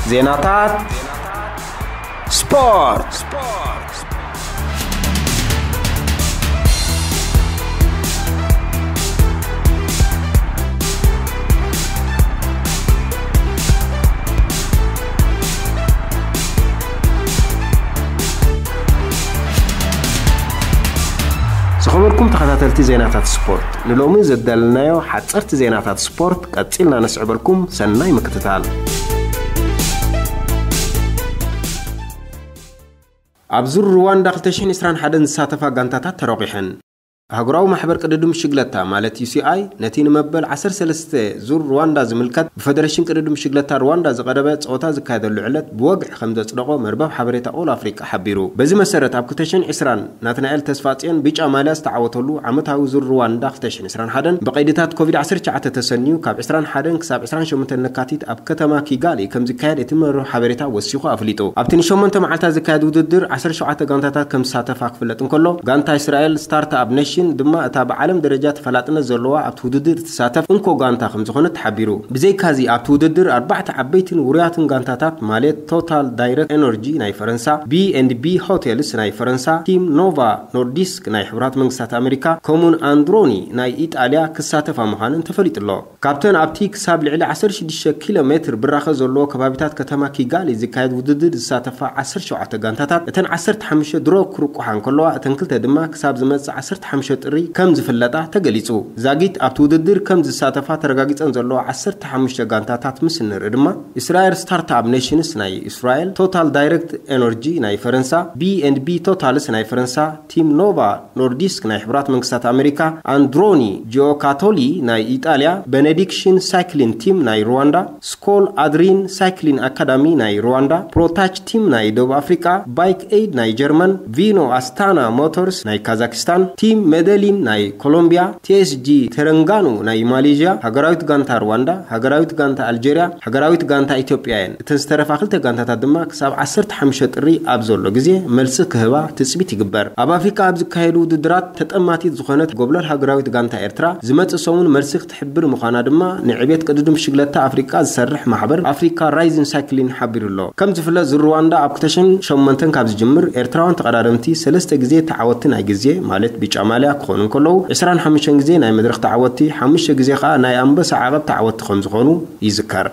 ዜናታት ስፖርት። ዝኸበርኩም ተኸታተልቲ ዜናታት ስፖርት፣ ንሎሚ ዘዳለናዮ ሓጸርቲ ዜናታት ስፖርት ቀጺልና ነስዕበልኩም። ሰናይ ምክትታል። ኣብ ዙር ሩዋንዳ ክልተ ሽሕን ዕስራን ሓደን ዝሳተፋ ጋንታታት ተረቂሐን። ኣህጉራዊ ማሕበር ቅድድም ሽግለታ ማለት ዩ ሲ ኣይ ነቲ ንመበል ዓሰርተ ሰለስተ ዙር ሩዋንዳ ዝምልከት ብፈደረሽን ቅድድም ሽግለታ ሩዋንዳ ዝቐረበ ጸወታ ዝካየደሉ ዕለት ብወግዒ ከም ዘጽደቖ መርበብ ሓበሬታ ኦል ኣፍሪቃ ሓቢሩ። በዚ መሰረት ኣብ ክልተ ሽሕን ዕስራን ናትናኤል ተስፋጽዮን ብጫ ማልያ ዝተዓወተሉ ዓመታዊ ዙር ሩዋንዳ ክልተ ሽሕን ዕስራን ሓደን ብቐይድታት ኮቪድ ዓሰርተ ትሽዓተ ተሰንዩ ካብ ዕስራን ሓደን ክሳብ ዕስራን ሸሞንተን ለካቲት ኣብ ከተማ ኪጋሊ ከም ዝካየድ እቲ መርበብ ሓበሬታ ወሲኹ ኣፍሊጡ። ኣብቲ ንሸሞንተ መዓልታት ዝካየድ ውድድር ዓሰርተ ሸውዓተ ጋንታታት ከም ዝሳተፋ ክፍለጥ እንከሎ፣ ጋንታ እስራኤል ስታርት ኣፕ ኔሽን ድማ እታ ብዓለም ደረጃ ተፈላጥነት ዘለዋ ኣብቲ ውድድር እትሳተፍ እንኮ ጋንታ ከም ዝኾነት ተሓቢሩ። ብዘይካዚ ኣብቲ ውድድር ኣርባዕተ ዓበይትን ውሩያትን ጋንታታት ማለት ቶታል ዳይሬክት ኤነርጂ ናይ ፈረንሳ፣ ቢ ኤንድ ቢ ሆቴልስ ናይ ፈረንሳ፣ ቲም ኖቫ ኖርዲስክ ናይ ሕቡራት መንግስታት ኣሜሪካ፣ ከምኡን ኣንድሮኒ ናይ ኢጣልያ ክሳተፋ ምዃነን ተፈሊጡ ኣሎ። ካብተን ኣብቲ ክሳብ ልዕሊ ዓሰርተ ሽዱሽተ ኪሎ ሜትር ብራኸ ዘለዎ ከባቢታት ከተማ ኪጋሊ ዝካየድ ውድድር ዝሳተፋ ዓሰርተ ሸውዓተ ጋንታታት፣ እተን ዓሰርተ ሓሙሽተ ድሮ ክርቁሓ እንከለዋ፣ እተን ክልተ ድማ ክሳብ ዝመጽእ ዓሰርተ ሓሙሽተ ጥሪ ከም ዝፍለጣ ተገሊጹ። ዛጊት ኣብቲ ውድድር ከም ዝሳተፋ ተረጋጊጸን ዘለዋ ዓሰርተ ሓሙሽተ ጋንታታት ምስ እንርኢ ድማ፣ እስራኤል ስታርትኣፕ ኔሽንስ ናይ እስራኤል፣ ቶታል ዳይሬክት ኤነርጂ ናይ ፈረንሳ፣ ቢ ኤንድ ቢ ቶታልስ ናይ ፈረንሳ፣ ቲም ኖቫ ኖርዲስክ ናይ ሕቡራት መንግስታት ኣሜሪካ፣ ኣንድሮኒ ጂኦካቶሊ ናይ ኢጣልያ፣ ቤኔዲክሽን ሳይክሊን ቲም ናይ ሩዋንዳ፣ ስኮል ኣድሪን ሳይክሊን ኣካዳሚ ናይ ሩዋንዳ፣ ፕሮታች ቲም ናይ ደቡብ ኣፍሪቃ፣ ባይክ ኤድ ናይ ጀርመን፣ ቪኖ ኣስታና ሞተርስ ናይ ካዛክስታን፣ ቲም ሜደሊን ናይ ኮሎምቢያ፣ ቲ ኤስ ጂ ተረንጋኑ ናይ ማሌዥያ፣ ሃገራዊት ጋንታ ሩዋንዳ፣ ሃገራዊት ጋንታ ኣልጀርያ፣ ሃገራዊት ጋንታ ኢትዮጵያ እየን። እተን ዝተረፋ ክልተ ጋንታታት ድማ ክሳብ ዓሰርተ ሓሙሽተ ጥሪ ኣብ ዘሎ ግዜ መልሲ ክህባ ትጽቢት ይግበር። ኣብ ኣፍሪቃ ኣብ ዝካየዱ ውድድራት ተጠማቲት ዝኾነት ጎብለል ሃገራዊት ጋንታ ኤርትራ ዝመጽእ ሰሙን መልሲ ክትሕብር ምዃና ድማ ንዕቤት ቅድድም ሽግለታ ኣፍሪቃ ዝሰርሕ ማሕበር ኣፍሪካ ራይዚን ሳይክሊን ሓቢሩ ኣሎ። ከም ዝፍለጥ ዙር ሩዋንዳ ኣብ ክልተ ሽሕን ሸሞንተን ካብ ዝጅምር ኤርትራውያን ተቐዳደምቲ ሰለስተ ግዜ ተዓወትቲ ናይ ግዜ ማለት ብጫ ማልያ ክኾኑ እንከለዉ ዕስራን ሓሙሽተን ግዜ ናይ መድረኽ ተዓወትቲ፣ ሓሙሽተ ግዜ ከኣ ናይ ኣንበሳ ዓቐብ ተዓወትቲ ከም ዝኾኑ ይዝከር።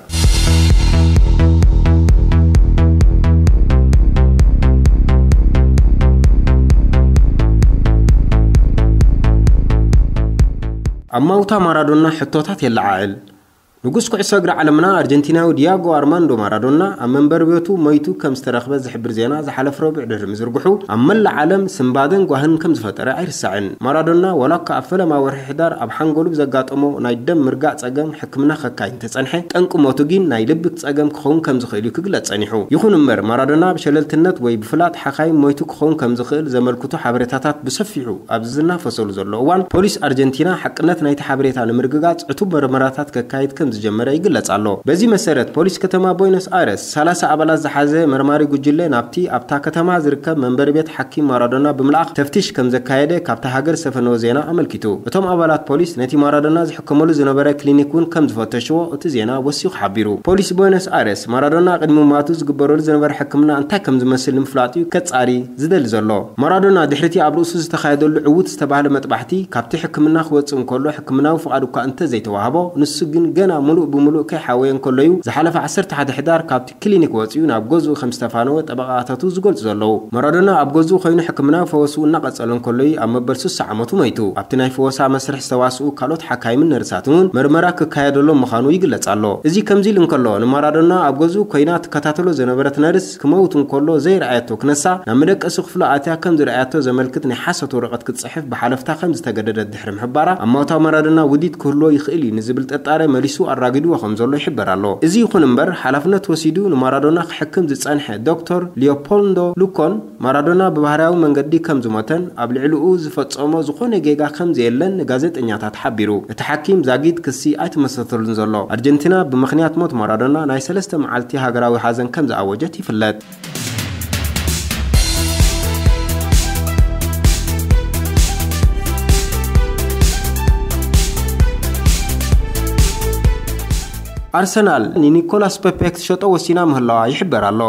ኣብ ማውታ ማራዶና ሕቶታት የለዓዕል። ንጉስ ኩዕሶ እግሪ ዓለምና ኣርጀንቲናዊ ዲያጎ ኣርማንዶ ማራዶና ኣብ መንበሪ ቤቱ ሞይቱ ከም ዝተረኽበ ዝሕብር ዜና ዝሓለፈ ረቡዕ ድሕሪ ምዝርግሑ ኣብ መላእ ዓለም ስንባደን ጓህን ከም ዝፈጠረ ኣይርሳዕን። ማራዶና ዋላ እኳ ኣብ ፈለማ ወርሒ ሕዳር ኣብ ሓንጎሉ ብዘጋጠሞ ናይ ደም ምርጋእ ጸገም ሕክምና ከካይድ እንተጸንሐ፣ ጠንቂ ሞቱ ግን ናይ ልቢ ጸገም ክኸውን ከም ዝኽእል እዩ ክግለጽ ጸኒሑ። ይኹን እምበር፣ ማራዶና ብሸለልትነት ወይ ብፍላጥ ሓካይም ሞይቱ ክኸውን ከም ዝኽእል ዘመልክቱ ሓበሬታታት ብሰፊሑ ኣብ ዝናፈሰሉ ዘሎ እዋን፣ ፖሊስ ኣርጀንቲና ሓቅነት ናይቲ ሓበሬታ ንምርግጋጽ ዕቱብ መርመራታት ከካይድ ከም ዝጀመረ ይግለጽ ኣሎ። በዚ መሰረት፣ ፖሊስ ከተማ ቦይኖስ ኣይረስ ሰላሳ ኣባላት ዝሓዘ መርማሪ ጉጅለ ናብቲ ኣብታ ከተማ ዝርከብ መንበሪ ቤት ሓኪም ማራዶና ብምልኣኽ ተፍትሽ ከም ዘካየደ ካብታ ሃገር ዝተፈነወ ዜና ኣመልኪቱ። እቶም ኣባላት ፖሊስ ነቲ ማራዶና ዝሕከመሉ ዝነበረ ክሊኒክ እውን ከም ዝፈተሽዎ እቲ ዜና ወሲኹ ሓቢሩ። ፖሊስ ቦይኖስ ኣይረስ ማራዶና ቅድሚ ሞቱ ዝግበረሉ ዝነበረ ሕክምና እንታይ ከም ዝመስል ንምፍላጥ እዩ ከጻሪ ዝደሊ ዘሎ። ማራዶና ድሕሪቲ ኣብ ርእሱ ዝተኻየደሉ ዕዉት ዝተባህለ መጥባሕቲ ካብቲ ሕክምና ክወጽእ እንከሎ ሕክምናዊ ፍቓድ እኳ እንተዘይተዋህቦ፣ ንሱ ግን ገና ምሉእ ብምሉእ ከይሓወየ እንከሎ እዩ ዝሓለፈ ዓሰርተ ሓደ ሕዳር ካብቲ ክሊኒክ ወጺኡ ናብ ገዝኡ ከም ዝተፋነወ ጠበቓታቱ ዝገልጹ ዘለዉ። ማራዶና ኣብ ገዝኡ ኮይኑ ሕክምናዊ ፈወስኡ እናቐጸለ እንከሎ እዩ ኣብ መበል ስሳ ዓመቱ ሞይቱ። ኣብቲ ናይ ፈወሳ መስርሕ ዝተዋስኡ ካልኦት ሓካይምን ነርሳትን እውን መርመራ ክካየደሎም ምዃኑ ይግለጽ ኣሎ። እዚ ከምዚ ኢሉ እንከሎ፣ ንማራዶና ኣብ ገዝኡ ኮይና ትከታተሎ ዝነበረት ነርስ ክመውት እንከሎ ዘይረኣየቶ ክነሳ ናብ መደቀሲ ክፍሉ ኣትያ ከም ዝረኣየቶ ዘመልክት ናይ ሓሶት ወረቐት ክትጽሕፍ ብሓለፍታ ከም ዝተገደደት ድሕሪ ምሕባራ፣ ኣብ ማውታ ማራዶና ውዲት ክህልዎ ይኽእል እዩ ንዝብል ጥርጣረ መሊሱ ኣራጊድዎ ከም ዘሎ ይሕበር ኣሎ። እዚ ይኹን እምበር፣ ሓላፍነት ወሲዱ ንማራዶና ክሕክም ዝጸንሐ ዶክተር ሊዮፖልዶ ሉኮን፣ ማራዶና ብባህርያዊ መንገዲ ከም ዝሞተን ኣብ ልዕሊኡ ዝፈጸሞ ዝኾነ ጌጋ ከም ዘየለን ንጋዜጠኛታት ሓቢሩ። እቲ ሓኪም ዛጊት ክሲ ኣይተመስረተሉን ዘሎ። ኣርጀንቲና ብምኽንያት ሞት ማራዶና ናይ ሰለስተ መዓልቲ ሃገራዊ ሓዘን ከም ዝኣወጀት ይፍለጥ። ኣርሰናል ንኒኮላስ ፔፔ ክትሸጦ ወሲና ምህላዋ ይሕበር ኣሎ።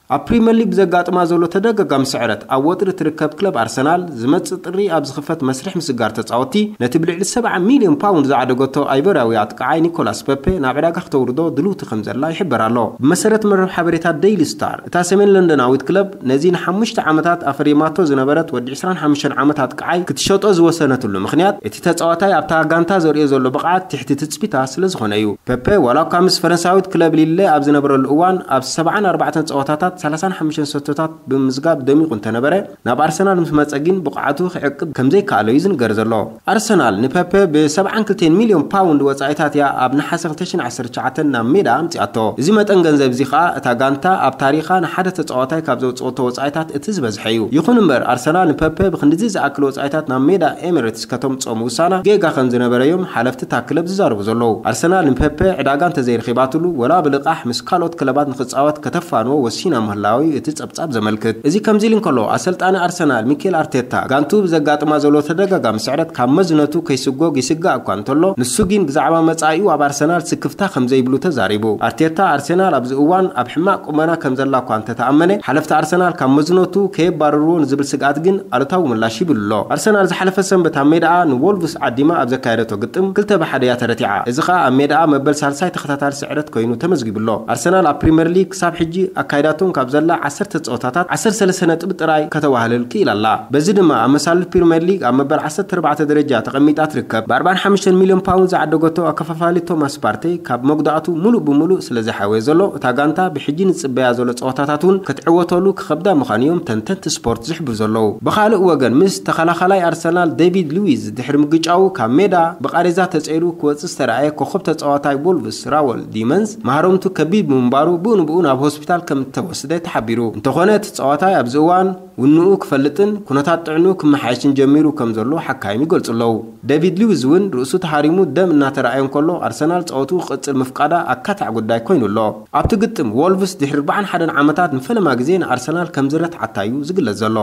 ኣብ ፕሪምየር ሊግ ብዘጋጥማ ዘሎ ተደጋጋሚ ስዕረት ኣብ ወጥሪ ትርከብ ክለብ ኣርሰናል፣ ዝመጽእ ጥሪ ኣብ ዝኽፈት መስርሕ ምስግጋር ተጻወትቲ፣ ነቲ ብልዕሊ ሰብዓ ሚልዮን ፓውንድ ዝዓደገቶ ኣይቨርያዊ ኣጥቃዓይ ኒኮላስ ፔፔ ናብ ዕዳጋ ክተውርዶ ድልውቲ ከም ዘላ ይሕበር ኣሎ። ብመሰረት መርበብ ሓበሬታ ዴይሊ ስታር፣ እታ ሰሜን ለንደናዊት ክለብ ነዚ ንሓሙሽተ ዓመታት ኣፈሪማቶ ዝነበረት ወዲ ዕስራን ሓሙሽተን ዓመት ኣጥቃዓይ ክትሸጦ ዝወሰነትሉ ምኽንያት፣ እቲ ተጻዋታይ ኣብታ ጋንታ ዘርእዮ ዘሎ ብቕዓት ትሕቲ ትጽቢታ ስለ ዝኾነ እዩ። ፔፔ ዋላ እኳ ምስ ፈረንሳዊት ክለብ ሊለ ኣብ ዝነበረሉ እዋን ኣብ ሰብዓን ኣርባዕተን ጸወታታት ሰላሳን ሓሙሽተን ሰቶታት ብምምዝጋብ ደሚቑ እንተነበረ፣ ናብ ኣርሰናል ምስ መጸ ግን ብቕዓቱ ክዕቅብ ከም ዘይከኣሎ እዩ ዝንገር ዘሎ። ኣርሰናል ንፔፔ ብ ሰብዓን ክልተን ሚልዮን ፓውንድ ወጻኢታት እያ ኣብ ነሓሰ ክልተ ሽሕን ዓሰርተ ትሽዓተን ናብ ሜዳ ኣምጺኣቶ። እዚ መጠን ገንዘብ እዚ ከኣ እታ ጋንታ ኣብ ታሪኻ ንሓደ ተጻዋታይ ካብ ዘውጽኦቶ ወጻኢታት እቲ ዝበዝሐ እዩ። ይኹን እምበር ኣርሰናል ንፔፔ ብክንድዚ ዝኣክል ወጻኢታት ናብ ሜዳ ኤሚሬትስ ከተምጽኦ ምውሳና ጌጋ ከም ዝነበረ እዮም ሓለፍቲ እታ ክለብ ዝዛረቡ ዘለዉ። ኣርሰናል ንፔፔ ዕዳጋ እንተዘይረኺባትሉ፣ ወላ ብልቓሕ ምስ ካልኦት ክለባት ንኽጻወት ከተፋንዎ ወሲና ምህላዊ እቲ ጸብጻብ ዘመልክት። እዚ ከምዚ ኢሉ እንከሎ፣ ኣሰልጣኒ ኣርሰናል ሚኬል ኣርቴታ ጋንቱ ብዘጋጥማ ዘሎ ተደጋጋሚ ስዕረት ካብ መዝነቱ ከይስጎግ ይስጋእ እኳ እንተሎ፣ ንሱ ግን ብዛዕባ መጻኢኡ ኣብ ኣርሰናል ስክፍታ ከም ዘይብሉ ተዛሪቡ። ኣርቴታ ኣርሰናል ኣብዚ እዋን ኣብ ሕማቕ ቁመና ከም ዘላ እኳ እንተተኣመነ፣ ሓለፍቲ ኣርሰናል ካብ መዝነቱ ከየባርርዎ ንዝብል ስግኣት ግን ኣሉታዊ ምላሽ ሂብሉ ኣሎ። ኣርሰናል ዝሓለፈ ሰንበት ኣብ ሜዳኣ ንዎልቭስ ዓዲማ ኣብ ዘካየደቶ ግጥም ክልተ ብሓደ እያ ተረቲዓ። እዚ ኸኣ ኣብ ሜዳኣ መበል ሳልሳይ ተኸታታሊ ስዕረት ኮይኑ ተመዝጊቡ ኣሎ። ኣርሰናል ኣብ ፕሪምየር ሊግ ክሳብ ሕጂ ኣካይዳቶም ካብ ዘላ ዓሰርተ ጸወታታት ዓሰርተ ሰለስተ ነጥቢ ጥራይ ከተዋህልል ክኢላ ኣላ። በዚ ድማ ኣብ መሳልል ፕሪምየር ሊግ ኣብ መበል ዓሰርተ ኣርባዕተ ደረጃ ተቐሚጣ ትርከብ። ብ ኣርባዓን ሓሙሽተን ሚልዮን ፓውንድ ዝዓደገቶ ኣከፋፋሊ ቶማስ ፓርቴ ካብ መጉዳእቱ ሙሉእ ብሙሉእ ስለ ዝሓወየ ዘሎ፣ እታ ጋንታ ብሕጂ ንጽበያ ዘሎ ጸወታታት እውን ክትዕወተሉ ክኸብዳ ምዃኑ እዮም ተንተንቲ ስፖርት ዝሕብሩ ዘለዉ። ብኻልእ ወገን፣ ምስ ተኸላኻላይ ኣርሰናል ዴቪድ ሉዊዝ ድሕሪ ምግጫዉ ካብ ሜዳ ብቓሬዛ ተጸይሩ ክወጽእ ዝተረኣየ ኮኸብ ተጻዋታይ ዎልቭስ ራወል ዲመንስ ማህረምቱ ከቢድ ብምንባሩ ብኡ ንብኡ ናብ ሆስፒታል ከም እተወስደ ተሓቢሩ። እንተኾነ፣ እቲ ተጻዋታይ ኣብዚ እዋን ውንኡ ክፈልጥን ኩነታት ጥዕንኡ ክመሓየሽን ጀሚሩ ከም ዘሎ ሓካይም ይገልጹ ኣለዉ። ዴቪድ ሉዊዝ እውን ርእሱ ተሃሪሙ ደም እናተረኣየ እንከሎ፣ ኣርሰናል ጸወትኡ ክቕጽል ምፍቃዳ ኣካታዕ ጉዳይ ኮይኑ ኣሎ። ኣብቲ ግጥም፣ ዎልቭስ ድሕሪ ኣርባዓን ሓደን ዓመታት ንፈለማ ግዜ ንኣርሰናል ከም ዝረትዓታ እዩ ዝግለጽ ዘሎ።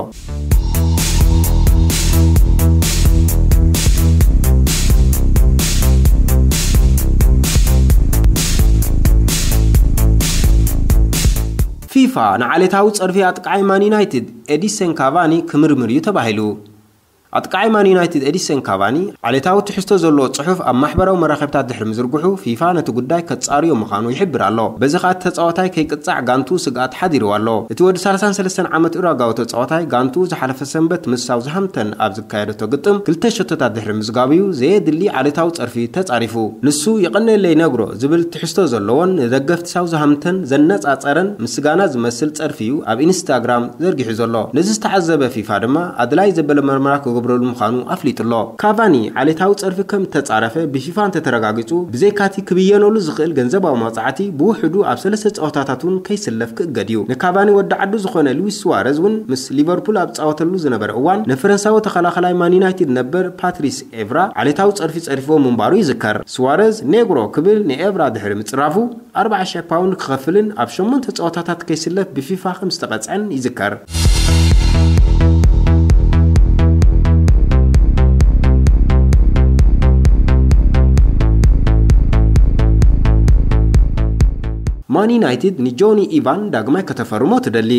ፊፋ ንዓሌታዊ ጸርፊ ኣጥቃዓይ ማን ዩናይትድ ኤዲሰን ካቫኒ ክምርምር እዩ ተባሂሉ። ኣጥቃዓይ ማን ዩናይትድ ኤዲሰን ካቫኒ ዓሌታዊ ትሕዝቶ ዘለዎ ጽሑፍ ኣብ ማሕበራዊ መራኸብታት ድሕሪ ምዝርግሑ፣ ፊፋ ነቲ ጉዳይ ከጻርዮ ምዃኑ ይሕብር ኣሎ። በዚ ኸኣ እቲ ተጻዋታይ ከይቅጻዕ ጋንቱ ስግኣት ሓዲርዋ ኣሎ። እቲ ወዲ ሰላሳን ሰለስተን ዓመት ኡራጋዊ ተጻዋታይ ጋንቱ ዝሓለፈ ሰንበት ምስ ሳውዝሃምተን ኣብ ዝካየደቶ ግጥም ክልተ ሸቶታት ድሕሪ ምዝጋቡ እዩ ዘየድሊ ዓሌታዊ ጸርፊ ተጻሪፉ። ንሱ "የቐነለይ ነግሮ" ዝብል ትሕዝቶ ዘለዎን ንደገፍቲ ሳውዝሃምተን ዘነጻጸረን ምስጋና ዝመስል ጸርፊ እዩ ኣብ ኢንስታግራም ዘርጊሑ ዘሎ። ነዚ ዝተዓዘበ ፊፋ ድማ ኣድላይ ዘበለ መርመራ ክገብረሉ ምዃኑ ኣፍሊጡ ኣሎ። ካቫኒ ዓሌታዊ ጸርፊ ከም እተጻረፈ ብፊፋ እንተተረጋጊጹ፣ ብዘይካቲ ክብየነሉ ዝኽእል ገንዘባዊ መቕጻዕቲ፣ ብውሕዱ ኣብ ሰለስተ ጸወታታት እውን ከይስለፍ ክእገድ እዩ። ንካቫኒ ወዲ ዓዱ ዝኾነ ሉዊስ ሱዋረዝ እውን ምስ ሊቨርፑል ኣብ ዝጻወተሉ ዝነበረ እዋን፣ ንፈረንሳዊ ተኸላኻላይ ማን ዩናይትድ ነበር ፓትሪስ ኤቭራ ዓሌታዊ ጸርፊ ጸሪፍዎ ምንባሩ ይዝከር። ሱዋረዝ "ኔግሮ" ክብል ንኤቭራ ድሕሪ ምጽራፉ፣ ኣርባዓ ሽሕ ፓውንድ ክኸፍልን ኣብ ሸሞንተ ጸወታታት ከይስለፍ ብፊፋ ከም ዝተቐጽዐን ይዝከር። ማን ዩናይትድ ንጆኒ ኢቫን ዳግማይ ከተፈርሞ ትደሊ።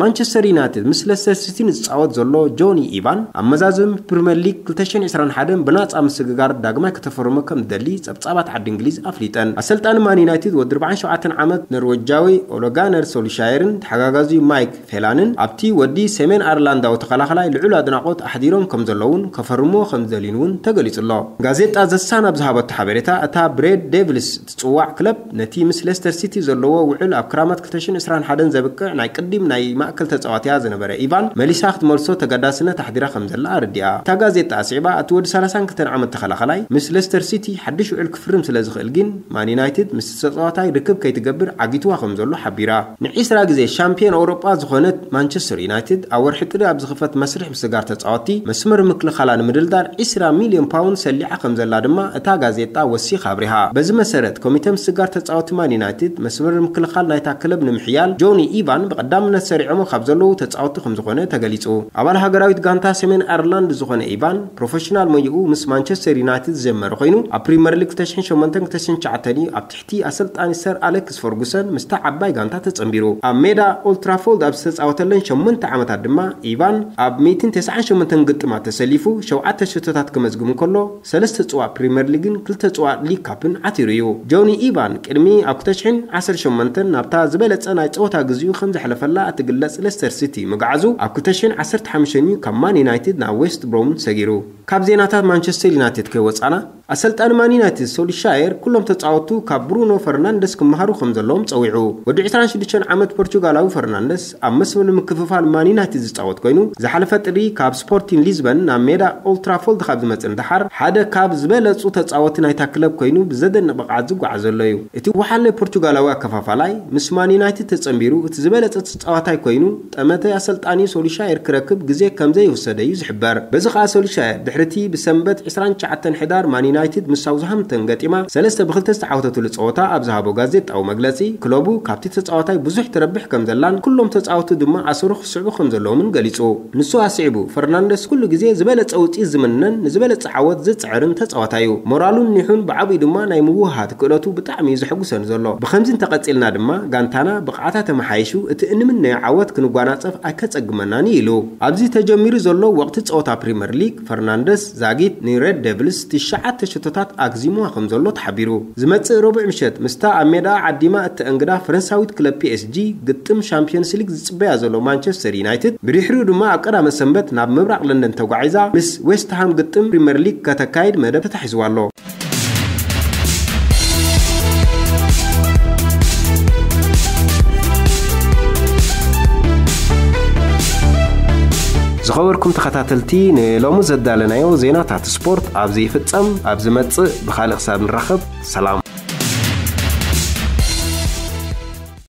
ማንቸስተር ዩናይትድ ምስ ለስተር ሲቲ ንዝጻወት ዘሎ ጆኒ ኢቫን፣ ኣብ መዛዘሚ ፕሪምየር ሊግ ክልተ ሽሕን ዕስራን ሓደን ብናጻ ምስግጋር ዳግማይ ከተፈርሞ ከም ዝደሊ ጸብጻባት ዓዲ እንግሊዝ ኣፍሊጠን። ኣሰልጣኒ ማን ዩናይትድ ወዲ ኣርባዓን ሸውዓተን ዓመት ኖርወጃዊ ኦለ ጋነር ሶልሻየርን ተሓጋጋዚኡ ማይክ ፌላንን ኣብቲ ወዲ ሰሜን ኣየርላንዳዊ ተኸላኻላይ ልዑል ኣድናቖት ኣሕዲሮም ከም ዘለውን ከፈርምዎ ከም ዝደልዩን እውን ተገሊጹ ኣሎ። ጋዜጣ ዘ ሳን ኣብ ዝሃበቶ ሓበሬታ፣ እታ ብሬድ ዴቪልስ ትጽዋዕ ክለብ ነቲ ምስ ሌስተር ሲቲ ዘለዎ ውዕል ኣብ ክራማት ክልተ ሽሕን ዕስራን ሓደን ዘብቅዕ ናይ ቅዲም ናይ ማእከል ተጻዋትያ ዝነበረ ኢቫን መሊሳ ክትመልሶ ተገዳስነት ኣሕዲራ ከም ዘላ ኣረዲኣ። እታ ጋዜጣ ኣስዒባ፣ እቲ ወዲ ሰላሳን ክልተን ዓመት ተኸላኸላይ ምስ ሌስተር ሲቲ ሓድሽ ውዕል ክፍርም ስለ ዝኽእል ግን፣ ማን ዩናይትድ ምስቲ ተጻዋታይ ርክብ ከይትገብር ዓጊትዋ ከም ዘሎ ሓቢራ። ንዒስራ ግዜ ሻምፒዮን ኣውሮጳ ዝኾነት ማንቸስተር ዩናይትድ፣ ኣብ ወርሒ ጥሪ ኣብ ዝኽፈት መስርሕ ምስጋር ተጻወትቲ፣ መስመር ምክልኻላ ንምድልዳል ዒስራ ሚልዮን ፓውንድ ሰሊዓ ከም ዘላ ድማ እታ ጋዜጣ ወሲኻ ኣብሪሃ። በዚ መሰረት፣ ኮሚተ ምስጋር ተጻወትቲ ማን ዩናይትድ፣ መስመር ምክልኻል ናይታ ክለብ ንምሕያል፣ ጆኒ ኢቫን ብቐዳምነት ሰሪዑ ካብ ዘለዉ ተጻወትቲ ከም ዝኾነ ተገሊጹ። ኣባል ሃገራዊት ጋንታ ሰሜን ኣየርላንድ ዝኾነ ኢቫን፣ ፕሮፌሽናል ሞይኡ ምስ ማንቸስተር ዩናይትድ ዝጀመረ ኮይኑ፣ ኣብ ፕሪምየር ሊግ ክልተ ሽሕን ሸሞንተን ክልተ ሽሕን ትሽዓተን እዩ ኣብ ትሕቲ ኣሰልጣኒ ሰር ኣሌክስ ፈርጉሰን ምስታ ዓባይ ጋንታ ተጸንቢሩ። ኣብ ሜዳ ኦልትራፎልድ ኣብ ዝተጻወተለን ሸሞንተ ዓመታት ድማ ኢቫን ኣብ ሚእትን ተስዓን ሸሞንተን ግጥማት ተሰሊፉ፣ ሸውዓተ ሸቶታት ክመዝግብ እንከሎ፣ ሰለስተ ጽዋእ ፕሪምየር ሊግን ክልተ ጽዋእ ሊግ ካፕን ዓቲሩ እዩ። ጆኒ ኢቫን ቅድሚ ኣብ ክልተ ሽሕን ዓሰርተ ሸሞንተን ናብታ ዝበለጸ ናይ ጸወታ ግዜኡ ከም ዘሕለፈላ እትግለጽ ሌስተር ሲቲ ምግዓዙ፣ ኣብ ክልተ ሽሕን ዓሰርተ ሓሙሽተን እዩ ካብ ማን ዩናይትድ ናብ ዌስት ብሮም ሰጊሩ። ካብ ዜናታት ማንቸስተር ዩናይትድ ከይወጻና፣ ኣሰልጣኒ ማን ዩናይትድ ሶልሻየር ኩሎም ተጻወቱ ካብ ብሩኖ ፈርናንደስ ክመሃሩ ከም ዘለዎም ጸዊዑ። ወዲ ዕስራን ሽዱሽተን ዓመት ፖርቹጋላዊ ፈርናንደስ ኣብ መስመር ምክፍፋል ማን ዩናይትድ ዝጻወት ኮይኑ፣ ዝሓለፈ ጥሪ ካብ ስፖርቲን ሊዝበን ናብ ሜዳ ኦልትራፎልድ ካብ ዝመጽእ ንደሓር ሓደ ካብ ዝበለጹ ተጻወቲ ናይታ ክለብ ኮይኑ ብዘደንቕ ብቕዓት ዝጓዓዝ ዘሎ እዩ። እቲ ወሓለ ፖርቹጋላዊ ኣከፋፋላይ ምስ ማን ዩናይትድ ተጸንቢሩ እቲ ዝበለጸ ተጻዋታይ ኮይኑ፣ ጠመተ ኣሰልጣኒ ሶልሻየር ክረክብ ግዜ ከም ዘይወሰደ እዩ ዝሕበር። በዚ ኸኣ ሶልሻየር ድሕሪቲ ብሰንበት ዕስራን ትሽዓተን ሕዳር ማን ዩናይትድ ምስ ሳውዝሃምፕተን ገጢማ ሰለስተ ብክልተ ዝተዓወተትሉ ጸወታ ኣብ ዝሃቦ ጋዜጣዊ መግለጺ፣ ክለቡ ካብቲ ተጻዋታይ ብዙሕ ትረብሕ ከም ዘላን ኩሎም ተጻወቱ ድማ ኣሰሩ ክስዕቡ ከም ዘለዎምን ገሊጹ። ንሱ ኣስዒቡ፣ ፈርናንደስ ኩሉ ግዜ ዝበለጸ ውጽኢት ዝምነን ንዝበለጸ ዓወት ዝጽዕርን ተጻዋታይ እዩ። ሞራሉን ኒሑን ብዓቢኡ ድማ ናይ ምውህሃድ ክእለቱ ብጣዕሚ እዩ ዘሐጉሰኒ ዘሎ። ብኸምዚ እንተቐጺልና ድማ ጋንታና ብቕዓታ ተመሓይሹ እቲ እንምነዮ ዓወት ክንጓናጸፍ ኣይከጸግመናን እዩ ኢሉ። ኣብዚ ተጀሚሩ ዘሎ ወቕቲ ጸወታ ፕሪምየር ሊግ፣ ፈርናንደስ ዛጊት ንሬድ ዴቭልስ ትሽዓተ ሸቶታት ኣግዚምዋ ከም ዘሎ ተሓቢሩ። ዝመጽእ ረቡዕ ምሸት ምስታ ኣብ ሜዳ ዓዲማ እተእንግዳ ፈረንሳዊት ክለብ ፒ ኤስ ጂ ግጥም ሻምፒዮንስ ሊግ ዝጽበያ ዘሎ ማንቸስተር ዩናይትድ፣ ብድሕሪኡ ድማ ኣብ ቀዳመ ሰንበት ናብ ምብራቕ ለንደን ተጓዒዛ ምስ ዌስትሃም ግጥም ፕሪምየር ሊግ ከተካይድ መደብ ተታሒዝዋ ኣሎ። ዝኸበርኩም ተኸታተልቲ፣ ንሎሚ ዘዳለናዮ ዜናታት ስፖርት ኣብዚ ይፍጸም። ኣብ ዝመጽእ ብኻልእ ክሳብ ንራኸብ፣ ሰላም።